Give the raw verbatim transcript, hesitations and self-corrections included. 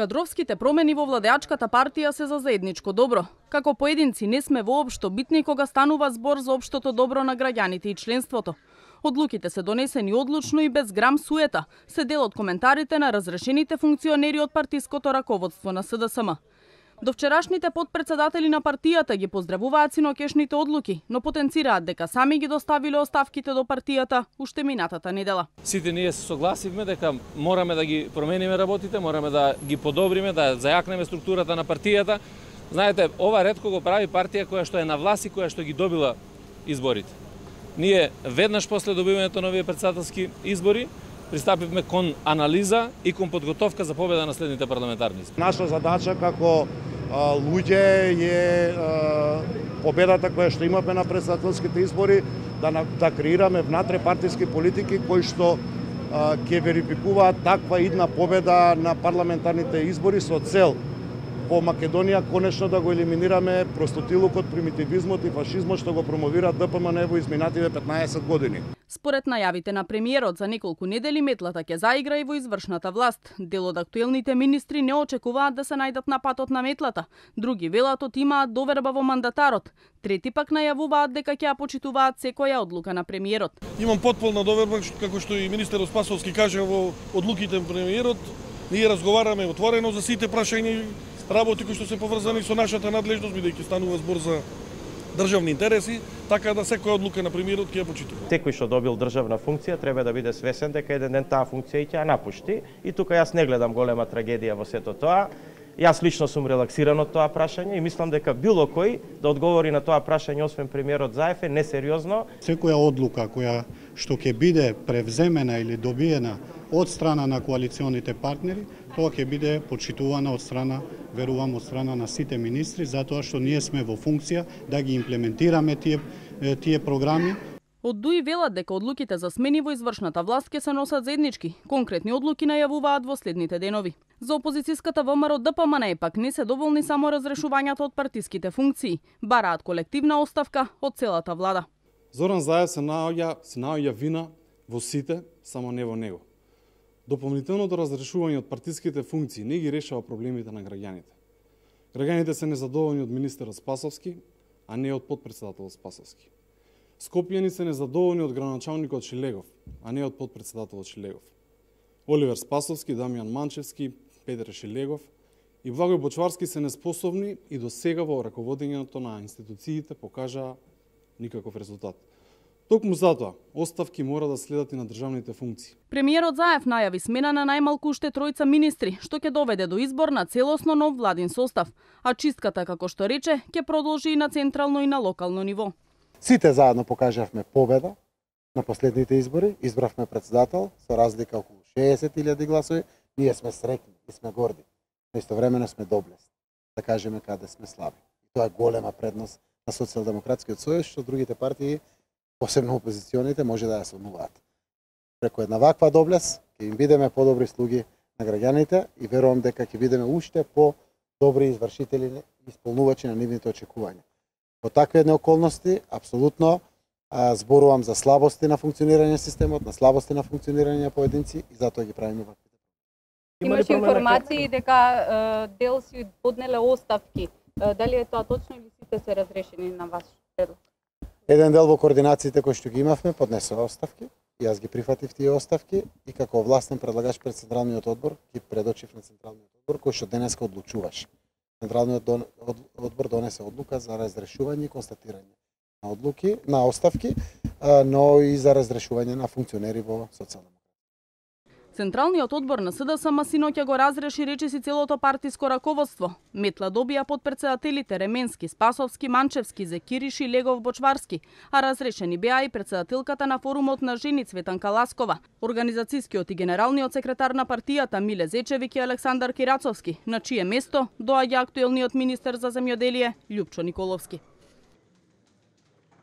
Кадровските промени во владеачката партија се за заедничко добро. Како поединци не сме воопшто битни кога станува збор за општото добро на граѓаните и членството. Одлуките се донесени одлучно и без грам суета, се дел од коментарите на разрешените функционери од партиското раководство на С Д С М. До вчерашните подпредседатели на партијата ги поздравуваат синокешните одлуки, но потенцираат дека сами ги доставиле оставките до партијата уште минатата недела. Сите ние се согласивме дека мораме да ги промениме работите, мораме да ги подобриме, да зајакнеме структурата на партијата. Знаете, ова ретко го прави партија која што е на власт и која што ги добила изборите. Ние веднаш после добивањето на овие председателски избори пристапивме кон анализа и кон подготовка за победа на следните парламентарни избори. Наша задача како а, луѓе е а, победата која што имаме на председателските избори да, да креираме внатре партиски политики кои што а, ќе верификуваат таква идна победа на парламентарните избори со цел по Македонија конечно да го елиминираме простотилукот, примитивизмот и фашизмот што го промовира Д П М Н во изминативе петнаесет години. Според најавите на премиерот за неколку недели метлата ќе заигра и во извршната власт. Дел од актуелните министри не очекуваат да се најдат на патот на метлата. Други велат од имаат доверба во мандатарот. Трети пак најавуваат дека ќе ја почитуваат секоја одлука на премиерот. Имам потполна доверба како што и министерот Спасовски кажа во одлуките на премиерот. Ние разговараме отворено за сите прашања работи кои што се поврзани со нашата надлежност, бидејќи станува збор за државни интереси, така да секоја одлука на премиерот ќе ја почитува. Секој што добил државна функција треба да биде свесен дека еден ден таа функција ќе ја напушти и тука јас не гледам голема трагедија во сето тоа. Јас лично сум релаксиран од тоа прашање и мислам дека било кој да одговори на тоа прашање освен премиерот Заев е несериозно. Секоја одлука која што ќе биде превземена или добиена од страна на коалиционите партнери, тоа ќе биде почитувана од страна, верувам, од страна на сите министри, затоа што ние сме во функција да ги имплементираме тие, тие програми. Од ДУИ велат дека одлуките за смени во извршната власт ќе се носат заеднички. Конкретни одлуки најавуваат во следните денови. За опозицијската ВМРО Д П М Н пак не се доволни само разрешувањето од партиските функции, бараат колективна оставка од целата влада. Зоран Заев се наоѓа, се наоѓа вина во сите, само не во него. Дополнителното разрешување од партиските функции не ги решава проблемите на граѓаните. Граѓаните се незадоволни од министерот Спасовски, а не од подпредседателот Спасовски. Скопјани се незадоволни од градоначалникот Шилегов, а не од подпредседателот Шилегов. Оливер Спасовски, Дамјан Манчевски, Петре Шилегов и Благој Бочварски се неспособни и до сега во раководењето на институциите покажаа никаков резултат. Токму затоа, оставки мора да следат и на државните функции. Премиерот Заев најави смена на најмалку уште тројца министри, што ќе доведе до избор на целосно нов владин состав, а чистката, како што рече, ќе продолжи и на централно и на локално ниво. Сите заедно покажавме победа на последните избори, избравме председател со разлика околу шеесет илјади гласови, ние сме среќни и сме горди, но истовремено сме доблесни, да кажеме каде сме слаби. Тоа е голема предност на Социјалдемократскиот сојуз, што другите партии, посебно опозиционите, може да ја сонуваат. Преку една ваква доблес ќе им бидеме подобри слуги на граѓаните и верувам дека ќе бидеме уште по-добри извршители и исполнувачи на нивните очекувања. Во такви едни околности, апсолутно а, зборувам за слабости на функционирање системот, на слабости на функционирање на поединци и затоа ги правиме ваквите. Имаше информации дека дел си поднеле оставки. Дали е тоа точно или сите се разрешени на ваш предлог? Еден дел во координациите кои што ги имавме поднесе оставки, и јас ги прифатив тие оставки и како властен предлагач пред Централниот одбор ги предочив на Централниот одбор кој што денеска одлучуваше. Централниот одбор донесе одлука за разрешување и констатирање на одлуки, на оставки, но и за разрешување на функционери во социјална. Централниот одбор на С Д С М синоќа го разреши речиси целото партиско раководство. Метла добија подпредседателите Ременски, Спасовски, Манчевски, Зекириш и Легов Бочварски, а разрешени беа и председателката на форумот на жени Цветанка Ласкова, организацијскиот и генералниот секретар на партијата Миле Зечевик и Александар Кирацовски, на чие место доаѓа актуелниот министер за земјоделие Љупчо Николовски.